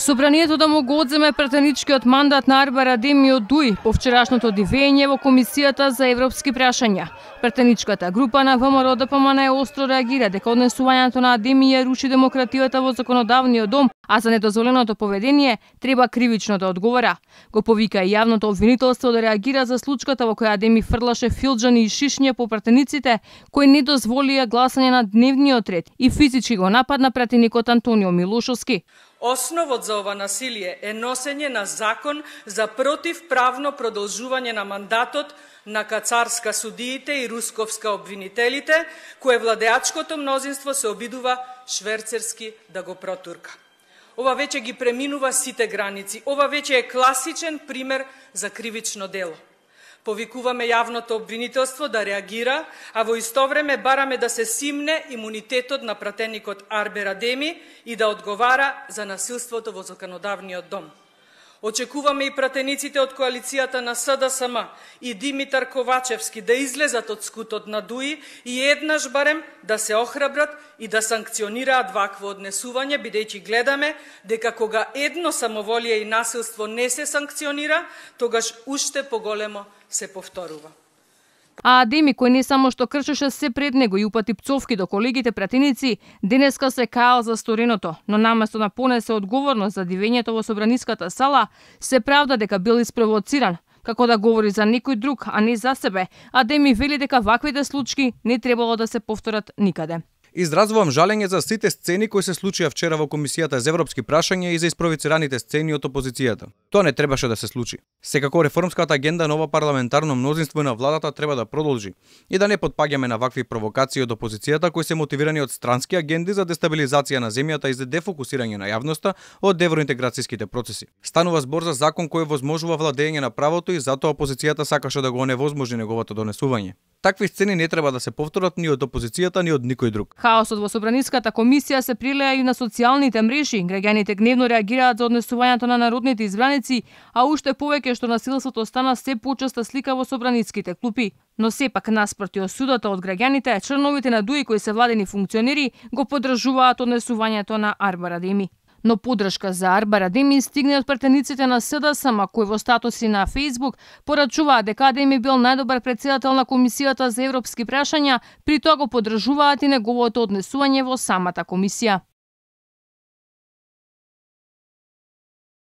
Собранието да му го одземе пратеничкиот мандат на Арбар Адеми од ДУИ по вчерашното дивење во Комисијата за европски прашања. Пратеничката група на ВМРО ДПМН остро реагира дека однесувањето на Адеми ја руши демократијата во законодавниот дом, а за недозволеното поведение треба кривично да одговара. Го повика и јавното обвинителство да реагира за случката во која Адеми фрлаше филџани и шишња по пратениците кои не дозволија гласање на дневниот ред и физички го нападна пратеникот Антонио Милошовски. Основот за ова насилие е носење на закон за противправно продолжување на мандатот на кацарска судиите и русковска обвинителите, кое владеачкото мнозинство се обидува шверцерски да го протурка. Ова веќе ги преминува сите граници. Ова веќе е класичен пример за кривично дело. Повикуваме јавното обвинителство да реагира, а во исто време бараме да се симне имунитетот на пратеникот Арбар Адеми и да одговара за насилството во законодавниот дом. Очекуваме и пратениците од коалицијата на СДСМ и Димитар Ковачевски да излезат од скутот на ДУИ и еднаш барем да се охрабрат и да санкционираат вакво однесување, бидејќи гледаме дека кога едно самоволие и насилство не се санкционира, тогаш уште поголемо се повторува. А Адеми, кој не само што кршеше се пред него и упати пцовки до колегите пратеници, денеска се каал за стореното, но наместо да понесе одговорност за дивењето во собраниската сала, се правда дека бил испровоциран, како да говори за некој друг, а не за себе. Адеми вели дека ваквите случаи не требало да се повторат никаде. Изразувам жалење за сите сцени кои се случија вчера во Комисијата за европски прашања и за испровоцираните сцени од опозицијата. Тоа не требаше да се случи. Секако реформската агенда на ова парламентарно мнозинство на владата треба да продолжи и да не потпаѓаме на вакви провокации од опозицијата кои се мотивирани од странски агенди за дестабилизација на земјата и за дефокусирање на јавноста од евроинтеграцијските процеси. Станува збор за закон кој возможува владење на правото и затоа опозицијата сакаше да го оневозможи неговото донесување. Такви сцени не треба да се повторат ни од опозицијата, ни од никој друг. Хаосот во Собраниската комисија се прилеа и на социјалните мрежи. Граѓаните гневно реагираат за однесувањето на народните избраници, а уште повеќе што насилството стана се почеста слика во собраниските клупи. Но сепак наспроти осудата од граѓаните, членовите на ДУИ кои се владени функционери го поддржуваат однесувањето на Арбар Адеми. Но поддршка за Арбар Адеми стигне од пратениците на СДСМ, кои во статуси на Фејсбук порачуваат дека Адеми бил најдобар претседател на Комисијата за европски прашања, при тоа го поддржуваат и неговото однесување во самата комисија.